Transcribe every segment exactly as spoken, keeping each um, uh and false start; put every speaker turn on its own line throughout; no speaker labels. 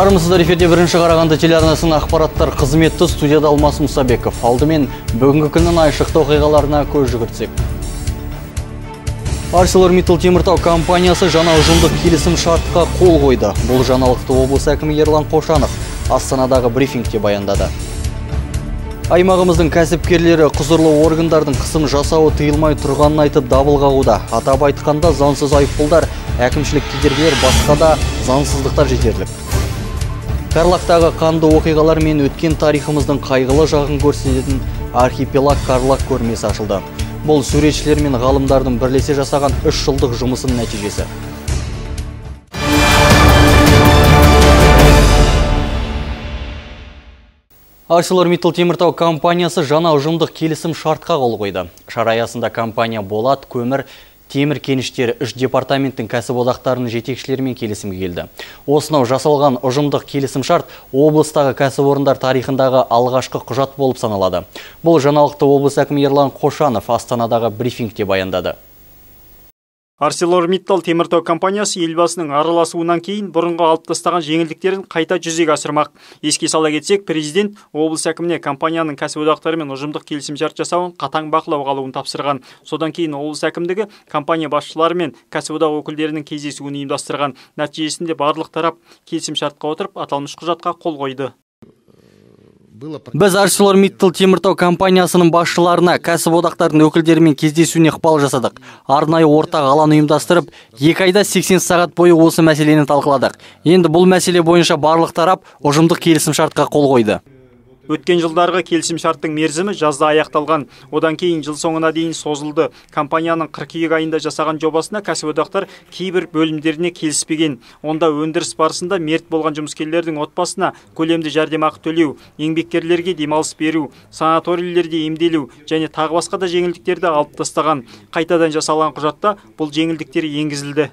Армысыздар, эфирде бірінші Қарағанды телеарнасының ақпараттар қызметі, студияда Алмас Мұсабеков. Алдымен бүгінгі күннің айшықты оқиғаларына көз жүгіртсек. ArcelorMittal Теміртау компаниясы жаңа ұжымдық келісім шартқа қол қойды. Бұл жаңалықты облыс әкімі Ерлан Қошанов Астанадағы брифингте баяндады. Аймағымыздың кәсіпкерлері құзырлы органдардың қысым жасауы тыйылмай тұрғанын айтып дабыл қағуда. Атап айтқанда заңсыз айыппұлдар, әкімшілік кедергілер, басқа да заңсыздықтар жетерлік. Карлактағы қанды оқиғалар мен өткен тарихымыздың қайғылы жағын көрсететін архипелаг Карлаг көрмесі ашылды. Бұл суретшілер мен ғалымдардың бірлесе жасаған үш жылдық жұмысының нәтижесі. ArcelorMittal Теміртау компаниясы жаңа ұжымдық келісім шартқа қол қойды. Шара аясында компания болат, көмір, темір кеніштері үш департаменттің кәсіподақтарының жетекшілерімен келісімге келді. Осынау жасалған ұжымдық келісім шарт облыстағы кәсіпорындар тарихындағы алғашқы құжат болып саналады. Бұл жаңалықты облыс әкімі Ерлан Қошанов Астанадағы брифингте баяндады.
ArcelorMittal Теміртау компаниясы елбасының араласуынан кейін бұрынғы алып тастаған жеңілдіктерін қайта жүзеге асырмақ. Еске сала кетсек, президент облыс әкіміне компанияның кәсіподақтарымен ұжымдық келісімшарт жасауын қатаң бақылауға алуын тапсырған. Содан кейін облыс әкімдігі компания басшылары мен кәсіподақ өкілдерінің кездесуін ұйымдастырған. Нәтижесінде барлық тарап келісімшартқа отырып, аталмыш құжатқа қол қойды.
Біз ArcelorMittal Теміртау компаниясының басшыларына кәсіподақтардың өкілдерімен кездесуіне ықпал жасадық. Арнайы ортақ алаң ұйымдастырып, екі айда сексен сағат бойы осы мәселені талқыладық. Енді бұл мәселе бойынша барлық тарап ұжымдық келісімшартқа қол қойды.
Өткен жылдарғы келісімшарттың мерзімі жазда аяқталған. Одан кейін жыл соңына дейін созылды. Компанияның қыркүйек айында жасаған жобасына кәсіподақтар кейбір бөлімдеріне келіспеген. Онда өндіріс барысында мерт болған жұмыскерлердің отбасына көлемді жәрдемақы төлеу, еңбеккерлерге демалыс беру, санаторийлерде емделу және тағы басқа да жеңілдіктерді алып тастаған. Қайтадан жасалған құжатта бұл жеңілдіктер енгізілді.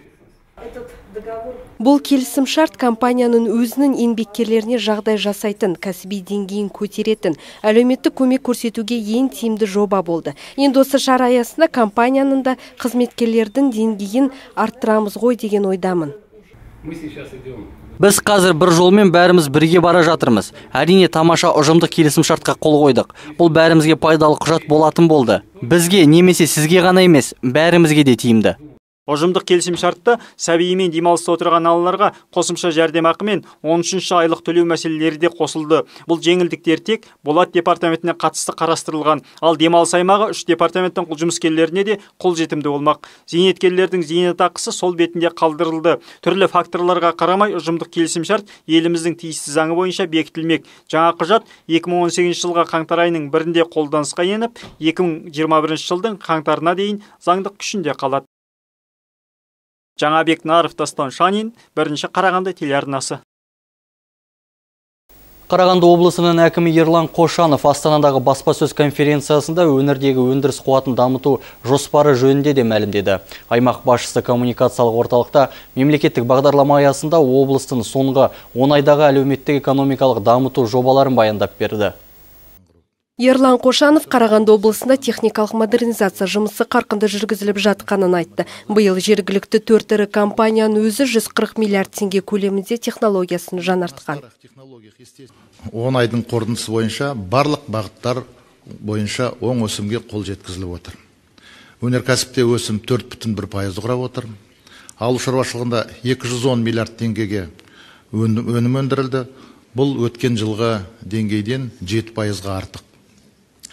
Бұл келісім шарт компанияның өзінің еңбеккерлеріне жағдай жасайтын, кәсіби деңгейін көтеретін, әлеуметтік көмек көрсетуге ең тиімді жоба болды. Енді осы шара аясында компанияның да қызметкерлердің деңгейін арттырамыз ғой деген ойдамын.
Біз қазір бір жолмен бәріміз бірге бара жатырмыз. Әрине тамаша ұжымдық келісім шартқа қол қойдық. Бұл бәрімізге пайдалы құжат болатын болды. Бізге немесе сізге ғана емес, бәрімізге де тиімді.
Ұжымдық келісім шартта сәбиімен демалыста отырған аналарға қосымша жәрдемақы мен он үшінші айлық төлеу мәселелері де қосылды. Бұл жеңілдіктер тек болат департаментіне қатысты қарастырылған, ал демалыс аймағы үш департаменттің жұмыскерлеріне де қолжетімді болмақ. Зейнеткерлердің зейнетақысы сол бетінде қалдырылды. Түрлі факторларға қарамай ұжымдық келісім шарт еліміздің тиісті заңы бойынша бекітілмек. Жаңа құжат екі мың он сегізінші жылғы қаңтар айының бірінде қолданысқа еніп, екі мың жиырма бірінші жылдың қаңтарына дейін заңдық күшінде қалады. Жаңабек Наров, Дастан Шанин, бірінші Қарағанды телеарнасы.
Қарағанды облысының әкімі Ерлан Қошанов Астанадағы баспасөз конференциясында өңірдегі өндіріс қуатын дамыту жоспары жөнінде де мәлімдеді. Аймақ басшысы коммуникациялық орталықта мемлекеттік бағдарлама аясында облыстың соңғы он айдағы әлеуметтік экономикалық дамыту жобаларын баяндап берді.
Ерлан Қошанов Қарағанды облысында техникалық модернизация жұмысы қарқынды жүргізіліп жатқанын айтты. Биыл жергілікті төрт ірі компанияның өзі жүз қырық миллиард теңге көлемінде технологиясын жаңартқан.
он айдың қорытындысы бойынша барлық бағыттар бойынша оң өсімге қол жеткізіліп отыр. Өнеркәсіпте өсім төрт бүтін бір пайызды құрап отыр. Ауыл шаруашылығында екі жүз он миллиард теңгеге өнім өндірілді. Бұл өткен жылғы деңгейден жеті пайызға артық.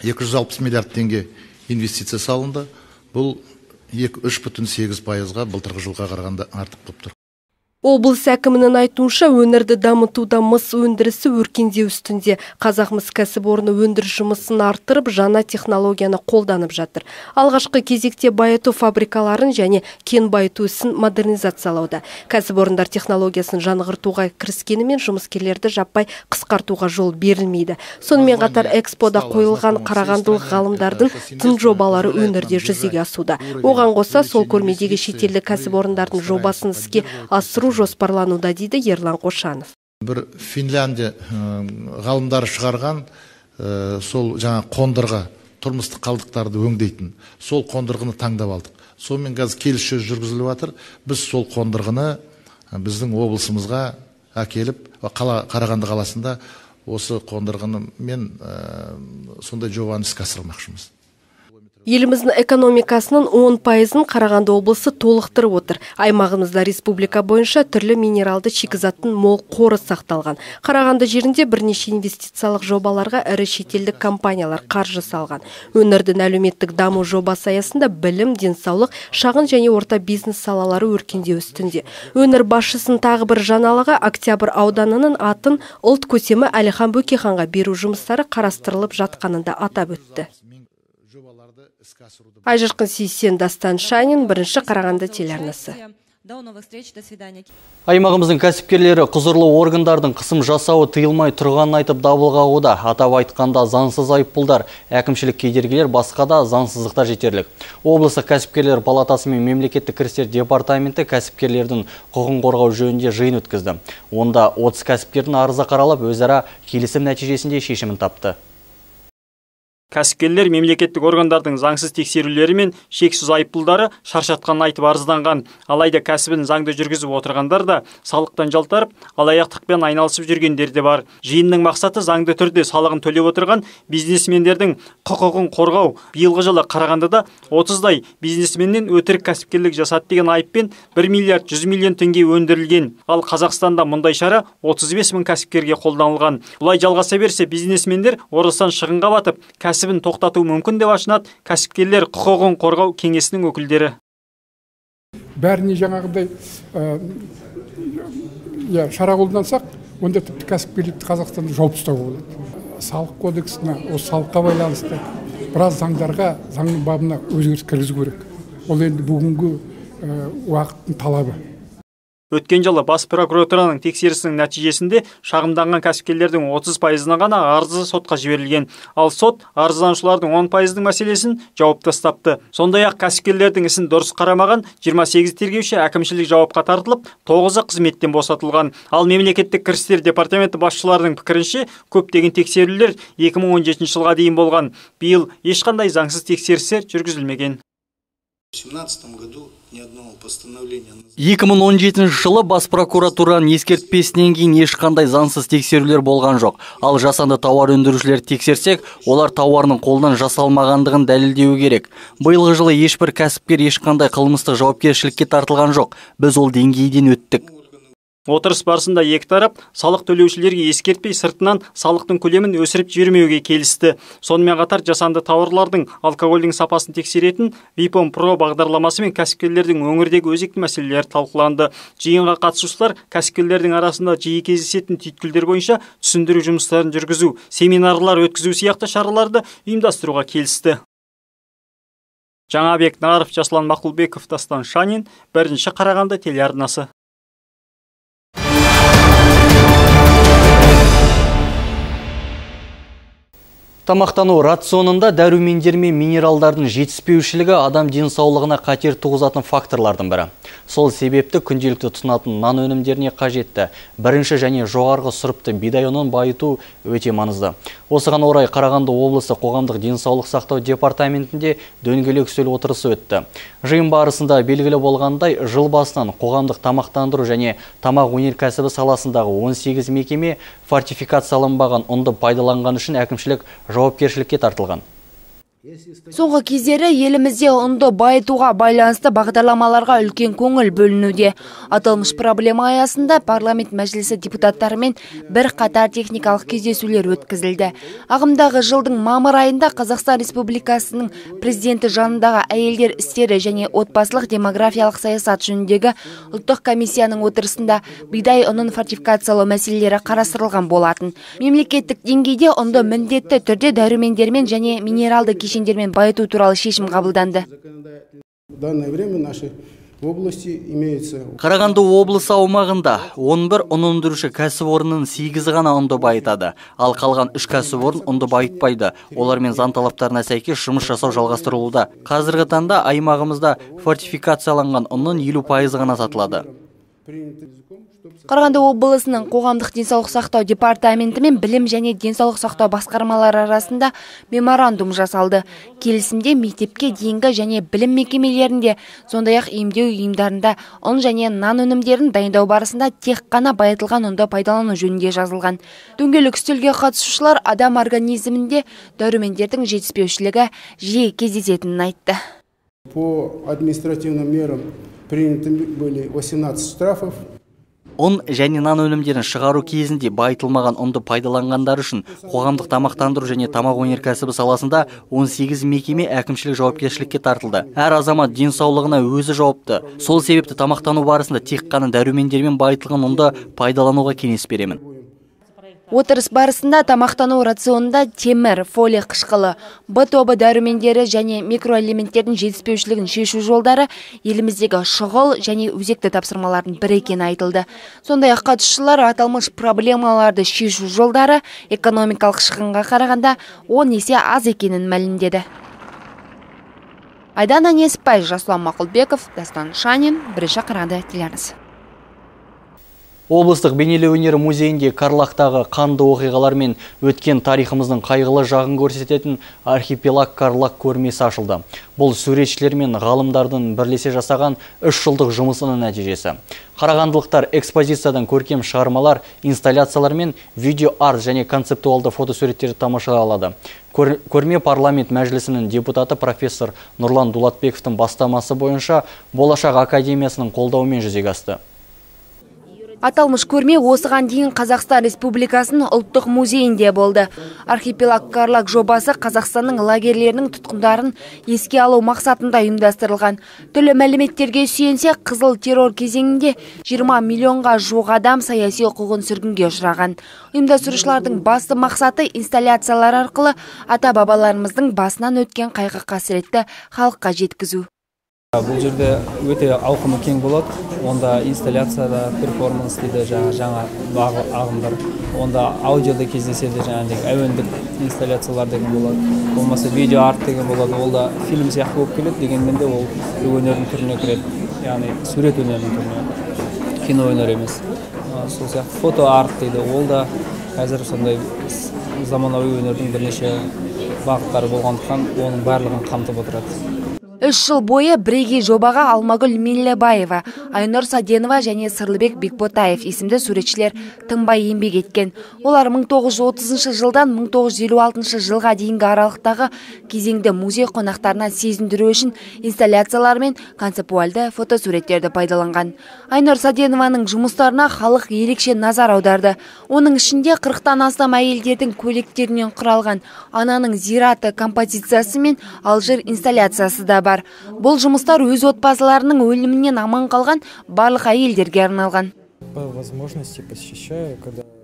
екі жүз алпыс миллиард теңге инвестиция салынды. Бұл үш бүтін сегіз пайызға былтырғы жылға қарағанда артық болып тұр.
Облыс әкімінің айтуынша өңірді дамытуда мыс өндірісі өркендеу үстінде. Қазақ мыс кәсіпорны өндіріс жұмысын арттырып, жаңа технологияны қолданып жатыр. Алғашқы кезекте байыту фабрикаларын және кен байыту ісін модернизациялауда. Кәсіпорындар технологиясын жаңғыртуға кіріскенімен жұмыскерлерді жаппай қысқартуға жол берілмейді. Сонымен қатар экспода қойылған қарағандылық ғалымдардың тың жобалары өңірде жүзеге асуда. Оған қоса сол көрмедегі шетелдік кәсіпорындардың жобасын іске асыру жоспарлануда дейді Ерлан Қошанов.
Бір Финляндия ғалымдары шығарған сол жаңа қондырғы тұрмыстық қалдықтарды өңдейтін сол қондырғыны таңдап алдық. Сонымен қазір келіссөз жүргізіліп жатыр. Біз сол қондырғыны біздің облысымызға әкеліп қала Қарағанды қаласында осы қондырғыны мен сондай жобаны іске асырмақшымыз.
Еліміздің экономикасының он пайызын Қарағанды облысы толықтырып отыр. Аймағымызда республика бойынша түрлі минералды шикізаттың мол қоры сақталған. Қарағанды жерінде бірнеше инвестициялық жобаларға ірі шетелдік компаниялар қаржы салған. Өңірдің әлеуметтік даму жобасы аясында білім, денсаулық, шағын және орта бизнес салалары өркендеу үстінде. Өңір басшысының тағы бір жаңалығы Октябрь ауданының атын ұлт көсемі Әлихан Бөкейханға беру жұмыстары қарастырылып жатқанында атап өтті. Айжарқын Сейсен, Дастан Шанин, бірінші Қарағанды телеарнасы.
Аймағымыздың кәсіпкерлері құзырлы органдардың қысым жасауы тыйылмай тұрғанын айтып дабыл қағуда. Атап айтқанда заңсыз айыппұлдар, әкімшілік кедергілер, басқа да заңсыздықтар жетерлік. Облыстық кәсіпкерлер палатасы мен мемлекеттік кірістер департаменті кәсіпкерлердің құқығын қорғау жөнінде жиын өткізді. Онда отыз кәсіпкердің арызы қаралып, өзара келісім нәтижесінде шешімін тапты.
Кәсіпкерлер мемлекеттік органдардың заңсыз тексерулері мен шексіз айыппұлдары шаршатқанын айтып арызданған. Алайда кәсібін заңды жүргізіп отырғандар да салықтан жалтарып, алаяқтықпен айналысып жүргендер де бар. Жиынның мақсаты заңды түрде салығын төлеп отырған бизнесмендердің құқығын қорғау. Биылғы жылы Қарағандыда отыздай бизнесменнен өтірік кәсіпкерлік жасады деген айыппен бір миллиард жүз миллион теңге өндірілген. Ал Қазақстанда мұндай шара отыз бес мың кәсіпкерге қолданылған. Бұлай жалғаса берсе, бизнесмендер орасан шығынға батып, кәсіп кәсібін тоқтату мүмкін деп ашынады кәсіпкерлер құқығын қорғау кеңесінің өкілдері.
Бәріне жаңағыдай шара қолдансақ, онда тіпті кәсіпкерлікті Қазақстанда жауып тастауға болады. Салық кодексіне, осы салыққа байланысты біраз заңдарға, заңның бабына өзгеріс кіргізу керек. Ол енді бүгінгі уақыттың талабы.
Өткен жылы бас прокуратураның тексерісінің нәтижесінде шағымданған кәсіпкерлердің отыз пайызына ғана арызы сотқа жіберілген. Ал сот арызданушылардың он пайыздың мәселесін жауып тастапты. Сондай-ақ кәсіпкерлердің ісін дұрыс қарамаған жиырма сегіз тергеуші әкімшілік жауапқа тартылып, тоғызы қызметтен босатылған. Ал мемлекеттік кірістер департаменті басшыларының пікірінше, көптеген тексерулер екі мың он жетінші жылға дейін болған. Биыл ешқандай заңсыз тексерістер жүргізілмеген.
екі мың он жетінші жылы бас прокуратураның ескертпесінен кейін ешқандай заңсыз тексерулер болған жоқ. Ал жасанды тауар өндірушілер тексерсек, олар тауарының қолдан жасалмағандығын дәлелдеуі керек. Биылғы жылы ешбір кәсіпкер ешқандай қылмыстық жауапкершілікке тартылған жоқ. Біз ол деңгейден өттік.
Отырыс барысында екі тарап салық төлеушілерге ескертпей сыртынан салықтың көлемін өсіріп жібермеуге келісті. Сонымен қатар жасанды тауарлардың алкогольдің сапасын тексеретін Випом Про бағдарламасы мен кәсіпкерлердің өңірдегі өзекті мәселелері талқыланды. Жиынға қатысушылар кәсіпкерлердің арасында жиі кездесетін түйткілдер бойынша түсіндіру жұмыстарын жүргізу, семинарлар өткізу сияқты шараларды ұйымдастыруға келісті. Жаңабек Нағаров, Жаслан Мақұлбеков, Дастан Шанин, бірінші Қарағанды телеарнасы.
Тамақтану рационында дәрумендер мен минералдардың жетіспеушілігі адам денсаулығына қатер туғызатын факторлардың бірі. Сол себепті күнделікті тұтынатын нан өнімдеріне қажетті бірінші және жоғарғы сұрыпты бидай ұнын байыту өте маңызды. Осыған орай Қарағанды облысы қоғамдық денсаулық сақтау департаментінде дөңгелек үстел отырысы өтті. Жиын барысында белгілі болғандай, жыл басынан қоғамдық тамақтандыру және тамақ өнеркәсібі саласындағы он сегіз мекеме фортификацияланбаған ұнды пайдаланған үшін әкімшілік жауапкершілікке тартылған.
Соңғы кездері елімізде ұнды байытуға байланысты бағдарламаларға үлкен көңіл бөлінуде. Аталмыш проблема аясында парламент мәжілісі депутаттарымен бір қатар техникалық кездесулер өткізілді. Ағымдағы жылдың мамыр айында Қазақстан Республикасының президенті жанындағы әйелдер істері және отбасылық демографиялық саясат жөніндегі ұлттық комиссияның отырысында бидай ұнын фортификациялау мәселелері қарастырылған болатын. Мемлекеттік деңгейде ұнды міндетті түрде дәрумендермен және минералды кешендермен байыту туралы шешім қабылданды.
Қарағанды облысы аумағында он бір ұн өндіруші кәсіпорынның сегізі ғана ұнды байытады, ал қалған үш кәсіпорын ұнды байытпайды. Олармен заң талаптарына сәйкес жұмыс жасау жалғастырылуда. Қазіргі таңда аймағымызда фортификацияланған ұнның елу пайызы ғана сатылады.
Қарағанды облысының қоғамдық денсаулық сақтау департаменті мен білім және денсаулық сақтау басқармалары арасында меморандум жасалды. Келісімде мектепке дейінгі және білім мекемелерінде, сондай-ақ емдеу ұйымдарында ұн және нан өнімдерін дайындау барысында тек қана байытылған ұнды пайдалану жөнінде жазылған. Дөңгелек үстелге қатысушылар адам организмінде дәрумендердің жетіспеушілігі жиі кездесетінін айтты.
По административным мерам приняты были восемнадцать штрафов.
ұн және нан өнімдерін шығару кезінде байытылмаған ұнды пайдаланғандар үшін қоғамдық тамақтандыру және тамақ өнеркәсібі саласында он сегіз мекеме әкімшілік жауапкершілікке тартылды. Әр азамат денсаулығына өзі жауапты. Сол себепті тамақтану барысында тек қана дәрумендермен байытылған ұнды пайдалануға кеңес беремін.
Отырыс барысында тамақтану рационында темір, фолия қышқылы, Б тобы дәрумендері және микроэлементтердің жетіспеушілігін шешу жолдары еліміздегі шұғыл және өзекті тапсырмалардың бірі екені айтылды. Сондай-ақ қатысушылар аталмыш проблемаларды шешу жолдары экономикалық шығынға қарағанда он есе аз екенін мәлімдеді. Айдана Неспай, Жасұлан Мақұлбеков, Дастан Шанин, бірінші Қарағанды телеарнасы.
Облыстық бейнелеу өнері музейінде Карлактағы қанды оқиғалар мен өткен тарихымыздың қайғылы жағын көрсететін архипелаг Карлак көрмесі ашылды. Бұл суретшілер мен ғалымдардың бірлесе жасаған үш жылдық жұмысының нәтижесі. Қарағандылықтар экспозициядан көркем шығармалар, инсталляциялар мен видео-арт және концептуалды фотосуреттерді тамашалай алады. Көрме парламент мәжілісінің депутаты профессор Нұрлан Дулатбековтың бастамасы бойынша Болашақ академиясының қолдауымен жүзеге асты.
Аталмыш көрме осыған дейін Қазақстан Республикасының ұлттық музейінде болды. Архипелаг Карлак жобасы Қазақстанның лагерлерінің тұтқындарын еске алу мақсатында ұйымдастырылған. Түрлі мәліметтерге сүйенсе, қызыл террор кезеңінде жиырма миллионға жуық адам саяси құқығын сүргінге ұшыраған. Ұйымдастырушылардың басты мақсаты инсталляциялар арқылы ата-бабаларымыздың басынан өткен қайғы қасіретті халыққа жеткізу.
Бұл жерде өте ауқымы кең болады. Онда инсталляцияда, перформанс дейді жаңа ағымдар. Онда аудиода кездеседі, жаңағыдай әуендік инсталляциялар деген болады. Болмаса видео арт деген болады. Ол да фильм сияқты болып келеді, дегенмен де ол өнердің түріне кіреді. Яғни сурет өнерінің түріне, кино өнер емес. Сол сияқты фото арт дейді. Ол да қазір сондай заманауи өнердің бірнеше бағыттары болғандықтан оның барлығын қамтып отырады.
Үш жыл бойы бірегей жобаға Алмагүл Миллебаева, Айнұр Саденова және Сырлыбек Бекботаев есімді суретшілер тынбай еңбек еткен. Олар мың тоғыз жүз отызыншы жылдан мың тоғыз жүз елу алтыншы жылға дейінгі аралықтағы кезеңді музей қонақтарына сезіндіру үшін инсталляциялар мен концептуалды фотосуреттерді пайдаланған. Айнұр Саденованың жұмыстарына халық ерекше назар аударды. Оның ішінде қырықтан астам әйелдердің көйлектерінен құралған ананың зираты композициясы мен Алжир инсталляциясы да бар. Бұл жұмыстар өз отбасыларының өлімінен аман қалған барлық әйелдерге арналған.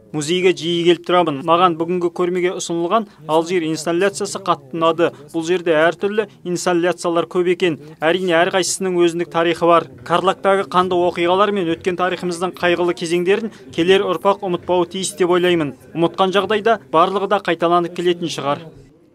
Музейге жиі келіп тұрамын. Маған бүгінгі көрмеге ұсынылған Алжир инсталляциясы қатты ұнады. Бұл жерде әртүрлі инсталляциялар көп екен. Әрине әрқайсысының өзіндік тарихы бар. Карлактағы қанды оқиғалар мен өткен тарихымыздың қайғылы кезеңдерін келер ұрпақ ұмытпауы тиіс деп ойлаймын. Ұмытқан жағдайда барлығы да қайталанып келетін шығар.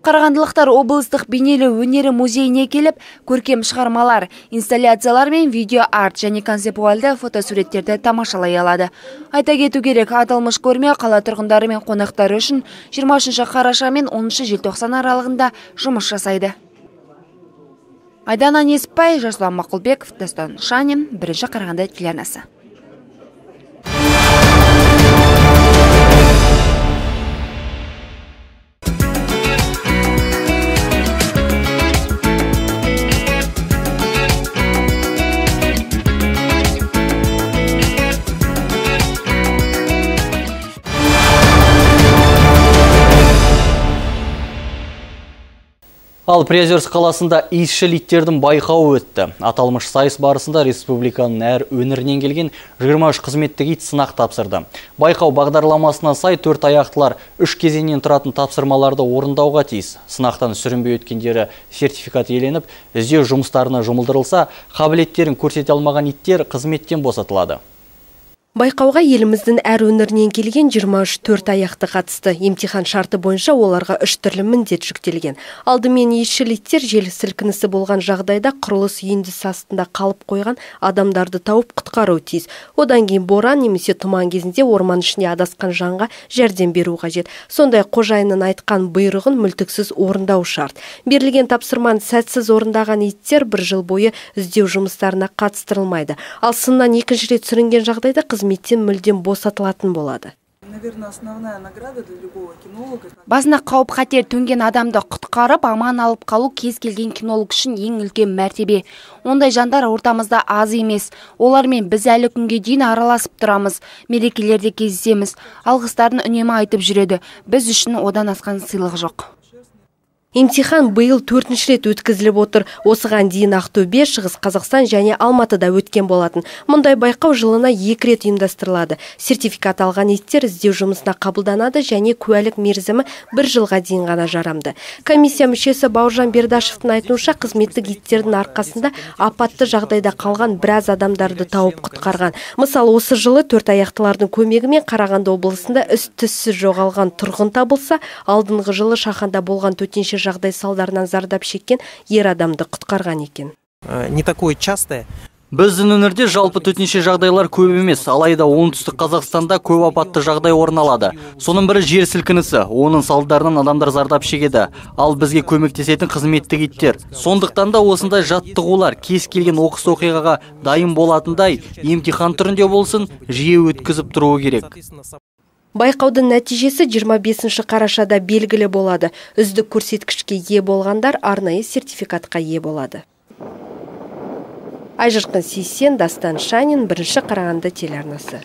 Қарағандылықтар облыстық бейнелеу өнері музейіне келіп, көркем шығармалар, инсталляциялар мен видео-арт және концептуалды фотосуреттерді тамашалай алады. Айта кету керек, аталмыш көрме қала тұрғындары мен қонақтары үшін жиырма үшінші қараша мен оныншы желтоқсан аралығында жұмыс жасайды. Айдана Неспай, Жасұлан Мақұлбеков, Дастан Шанин, бірінші Қарағанды телеарнасы.
Ал Приозерск қаласында иісшіл иттердің байқауы өтті. Аталмыш сайыс барысында республиканың әр өңірінен келген жиырма үш қызметтік ит сынақ тапсырды. Байқау бағдарламасына сай төрт аяқтылар үш кезеңнен тұратын тапсырмаларды орындауға тиіс. Сынақтан сүрінбей өткендері сертификат иеленіп, іздеу жұмыстарына жұмылдырылса, қабілеттерін көрсете алмаған иттер қызметтен босатылады.
Байқауға еліміздің әр өңірінен келген жиырма үш төрт аяқты қатысты. Емтихан шарты бойынша оларға үш түрлі міндет жүктелген. Алдымен иісшіл иттер жел сілкінісі болған жағдайда құрылыс үйіндісі астында қалып қойған адамдарды тауып құтқару тиіс. Одан кейін боран немесе тұман кезінде орман ішіне адасқан жанға жәрдем беру қажет. Сондай қожайынның айтқан бұйрығын мүлтіксіз орындау шарт. Берілген тапсырманы сәтсіз орындаған иттер бір жыл бойы іздеу жұмыстарына қатыстырылмайды. Ал сыннан екінші рет сүрінген жағдайда қызметтен мүлдем босатылатын болады.
Басына қауіп қатер төнген адамды құтқарып, аман алып қалу кез келген кинолог үшін ең үлкен мәртебе. Ондай жандар ортамызда аз емес. Олармен біз әлі күнге дейін араласып тұрамыз. Мерекелерде кездесеміз. Алғыстарын үнемі айтып жүреді. Біз үшін одан асқан сыйлық жоқ.
Емтихан биыл төртінші рет өткізіліп отыр. Осыған дейін Ақтөбе, Шығыс Қазақстан және Алматыда өткен болатын. Мұндай байқау жылына екі рет ұйымдастырылады. Сертификат алған иттер іздеу жұмысына қабылданады және куәлік мерзімі бір жылға дейін ғана жарамды. Комиссия мүшесі Бауыржан Бердашевтың айтуынша, қызметтік иттердің арқасында апатты жағдайда қалған біраз адамдарды тауып құтқарған. Мысалы, осы жылы төрт аяқтылардың көмегімен Қарағанды облысында із-түзсіз жоғалған тұрғын табылса, алдыңғы жылы Шаханда болған төтенше жағдай салдарынан зардап шеккен ер адамды құтқарған екен.
Не такое частое.
Біздің өңірде жалпы төтенше жағдайлар көп емес, алайда оңтүстік Қазақстанда көп апатты жағдай орын алады. Соның бірі жер сілкінісі, оның салдарынан адамдар зардап шегеді, ал бізге көмектесетін қызметтік иттер. Сондықтан да осындай жаттығулар кез келген оқыс оқиғаға дайын болатындай емтихан түрінде болсын, жиі өткізіп тұруы керек.
Байқаудың нәтижесі жиырма бесінші қарашада белгілі болады. Үздік көрсеткішке ие болғандар арнайы сертификатқа ие болады. Айжырқын Сейсен, Дастан Шанин, бірінші Қарағанды телеарнасы.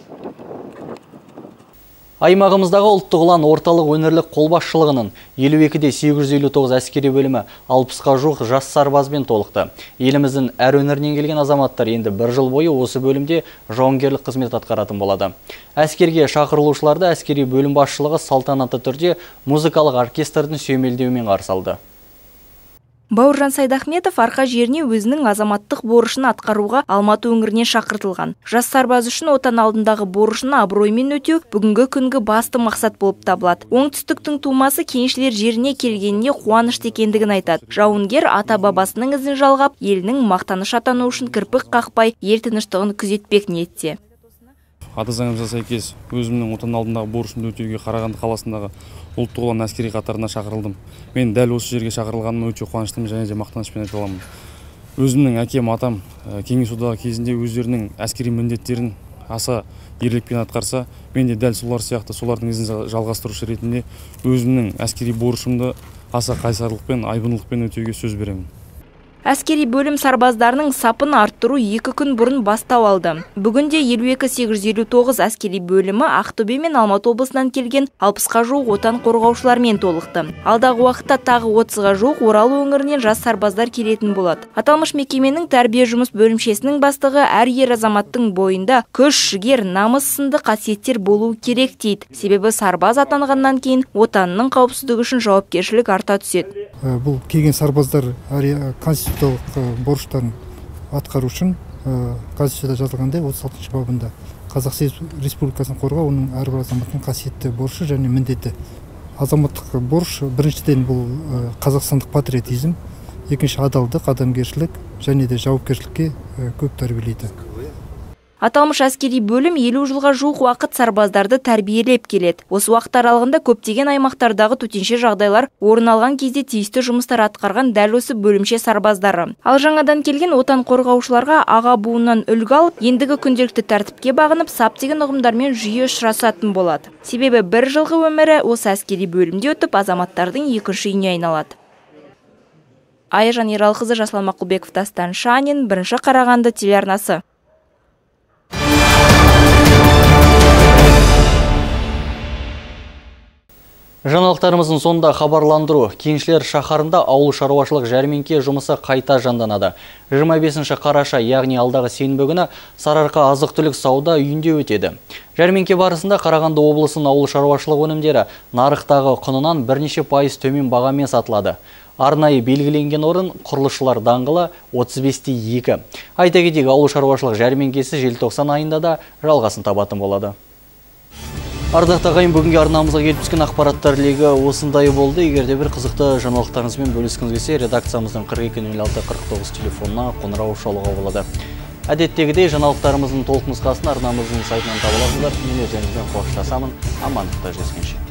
Аймағымыздағы ұлттық ұлан орталық өңірлік қолбасшылығының елу екіде сегіз жүз елу тоғыз әскери бөлімі алпысқа жуық жас сарбазбен толықты. Еліміздің әр өңірінен келген азаматтар енді бір жыл бойы осы бөлімде жауынгерлік қызмет атқаратын болады. Әскерге шақырылушыларды әскери бөлім басшылығы салтанатты түрде музыкалық оркестрдің сүйемелдеуімен қарсы алды.
Бауыржан Сайдахметов арқа жеріне өзінің азаматтық борышын атқаруға Алматы өңірінен шақыртылған. Жас сарбаз үшін отан алдындағы борышын абыроймен өтеу бүгінгі күнгі басты мақсат болып табылады. Оңтүстіктің тумасы кеншілер жеріне келгеніне қуанышты екендігін айтады. Жауынгер ата бабасының ізін жалғап, елінің мақтаныш атану үшін кірпік қақпай, ел тыныштығын күзетпек ниетте.
Ата заңымызға сәйкес өзімнің отан алдындағы борышымды өтеуге Қарағанды қаласындағы ұлттық ұлан әскери қатарына шақырылдым. Мен дәл осы жерге шақырылғаныма өте қуаныштымын және де мақтанышпен айта аламын. Өзімнің әкем, атам кеңес одағы кезінде өздерінің әскери міндеттерін аса ерлікпен атқарса, мен де дәл солар сияқты солардың ізін жалғастырушы ретінде өзімнің әскери борышымды аса қайсарлықпен, айбындылықпен өтеуге сөз беремін.
Әскери бөлім сарбаздарының сапын арттыру екі күн бұрын бастау алды. Бүгінде елу екі сегіз жүз елу тоғыз әскери бөлімі Ақтөбе мен Алматы облысынан келген алпысқа жуық отан қорғаушылармен толықты. Алдағы уақытта тағы отызға жуық Орал өңірінен жас сарбаздар келетін болады. Аталмыш мекеменің тәрбие жұмыс бөлімшесінің бастығы әр ер азаматтың бойында күш, жігер, намыс сынды қасиеттер болуы керек дейді. Себебі сарбаз атанғаннан кейін отанның қауіпсіздігі үшін жауапкершілік арта түседі.
Бұл келген сарбаздар конституциялық борыштарын атқару үшін Конституцияда жазылғандай отыз алтыншы бабында Қазақстан Республикасын қорғау оның әрбір азаматтың қасиетті борышы және міндеті. Азаматтық борыш біріншіден бұл қазақстандық патриотизм, екінші адалдық, адамгершілік және де жауапкершілікке көп тәрбиелейді.
Аталмыш әскери бөлім елу жылға жуық уақыт сарбаздарды тәрбиелеп келеді. Осы уақыт аралығында көптеген аймақтардағы төтенше жағдайлар орын алған кезде тиісті жұмыстар атқарған дәл осы бөлімше сарбаздары. Ал жаңадан келген отан қорғаушыларға аға буыннан үлгі алып, ендігі күнделікті тәртіпке бағынып, сап деген ұғымдармен жиі ұшырасатын болады. Себебі бір жылғы өмірі осы әскери бөлімде өтіп, азаматтардың екінші үйіне айналады. Айжан Ералқызы, Жаслан Мақұлбеков, Дастан Шанин, бірінші Қарағанды телеарнасы.
Жаңалықтарымыздың сонда хабарландыру. Кеншілер шаһарында ауыл шаруашылық жәрмеңке жұмысы қайта жанданады. жиырма бесінші қараша, яғни алдағы сенбі күні Сарыарқа азық-түлік сауда үйінде өтеді. Жәрмеңке барысында Қарағанды облысының ауыл шаруашылық өнімдері нарықтағы құнынан бірнеше пайыз төмен бағамен сатылады. Арнайы белгіленген орын құрылысшылар даңғылы отыз бесте екі. Айта кетейік, ауыл шаруашылық жәрмеңкесі желтоқсан айында да жалғасын табатын болады. Ардақты ағайын, бүгінгі арнамызға келіп түскен ақпараттар легі осындай болды. Егерде бір қызықты жаңалықтарыңызбен бөліскіңіз келсе, редакциямыздың қырық екі нөл алты қырық тоғыз телефонына қоңырау шалуға болады. Әдеттегідей жаңалықтарымыздың толық нұсқасын арнамыздың сайтынан таба аласыздар. Мен өздеріңізбен қоштасамын. Амандықта жүздескенше.